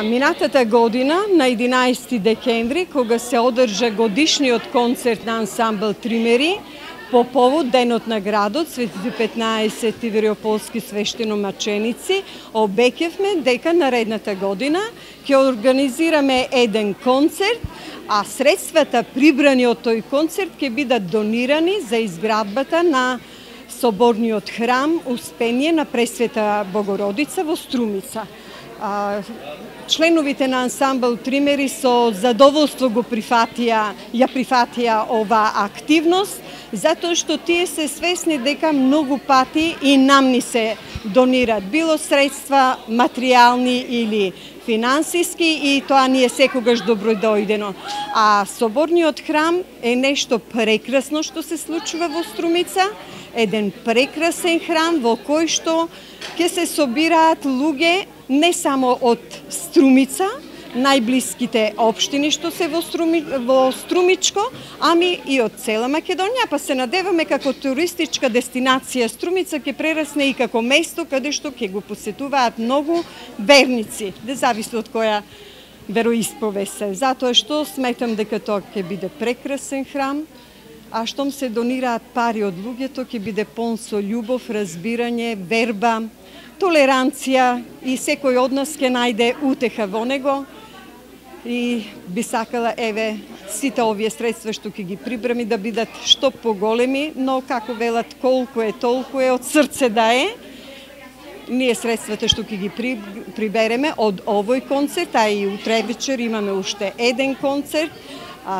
Минатата година, на 11 декември, кога се одржа годишниот концерт на ансамбл Тримери, по повод Денот на градот, Светите 15 Тивриополски свештеномаченици, обеќавме дека наредната година ќе организираме еден концерт, а средствата прибрани од тој концерт ќе бидат донирани за изградбата на соборниот храм Успение на Пресвета Богородица во Струмица. Членовите на ансамбл Тримери со задоволство ја прифатија ова активност, затоа што тие се свесни дека многу пати и нам ни се донират било средства материјални или финансиски, и тоа ни е секогаш добродојдено. А соборниот храм е нешто прекрасно што се случува во Струмица, еден прекрасен храм во кој што ќе се собираат луѓе не само од Струмица, најблиските општини што се во Струмичко, ами и од цела Македонија, па се надеваме како туристичка дестинација Струмица ќе прерасне и како место каде што ќе го посетуваат многу верници, не зависи од која вероисповест се. Затоа што сметам дека тоа ќе биде прекрасен храм, а штом се донираат пари од луѓето, ќе биде полн со љубов, разбирање, верба, толеранција, и секој од нас ќе најде утеха во него. И би сакала, еве, сите овие средства што ќе ги прибраме да бидат што поголеми, но како велат, колку е толку е, од срце да е. Ние средствата што ќе ги прибереме од овој концерт, а и утре вечер имаме уште еден концерт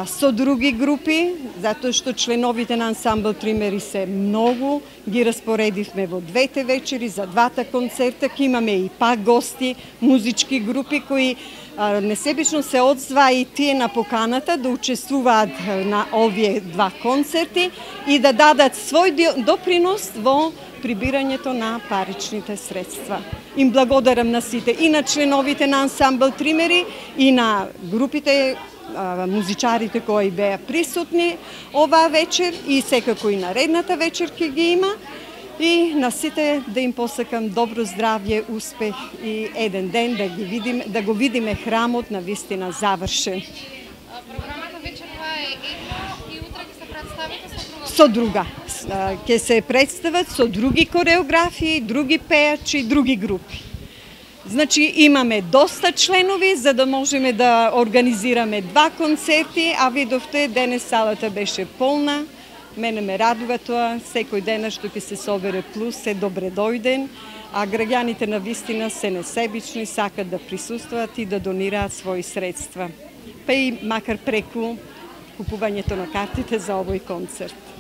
со други групи, затоа што членовите на ансамбл Тримери се многу, ги распоредивме во двете вечери за двата концерта, ќе имаме и пак гости, музички групи кои несебично се одзва и тие на поканата да учествуваат на овие два концерти и да дадат свој допринос во прибирањето на паричните средства. Им благодарам на сите, и на членовите на ансамбл Тримери, и на групите, музичарите кои беа присутни оваа вечер, и секако и наредната вечер ќе ги има, и на сите да им посакам добро здравје, успех и еден ден да го видиме храмот на вистина завршен. Програмата вечерва е една и утре ќе се представите со друга. Ќе се представат со други кореографии, други пејачи, други групи. Значи имаме доста членови за да можеме да организираме два концерти, а видовте денес салата беше полна. Мене ме радува тоа, секој ден што ќе се собере плюс е добре дојден, а граѓаните на вистина се несебични, сакат да присуствуваат и да донираат своји средства. Па и макар преку купувањето на картите за овој концерт.